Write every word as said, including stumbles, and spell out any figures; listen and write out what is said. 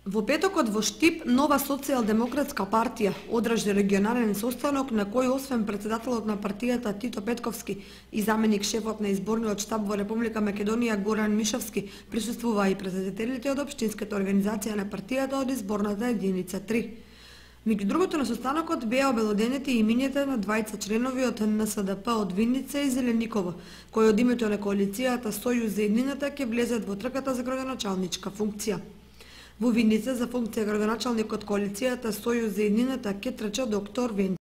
Во петокот во Штип, Нова социјалдемократска партија одржи регионален состанок на кој освен председателот на партијата Тито Петковски и заменик шефот на изборниот штаб во Република Македонија Горан Мишовски присуствуваа и представителите од општинската организација на партијата од изборната единица три. Меѓу другото на состанокот беа обелоденети и имињата на двајца членови од Н С Д П од Винница и Зелениково, кои од името на коалицијата Сојуз за еднината ќе влезат во трката за градоначалничка функција. Во Винница за функција градоначалник од коалицијата Сојуз за еднината ќе трча доктор Венчо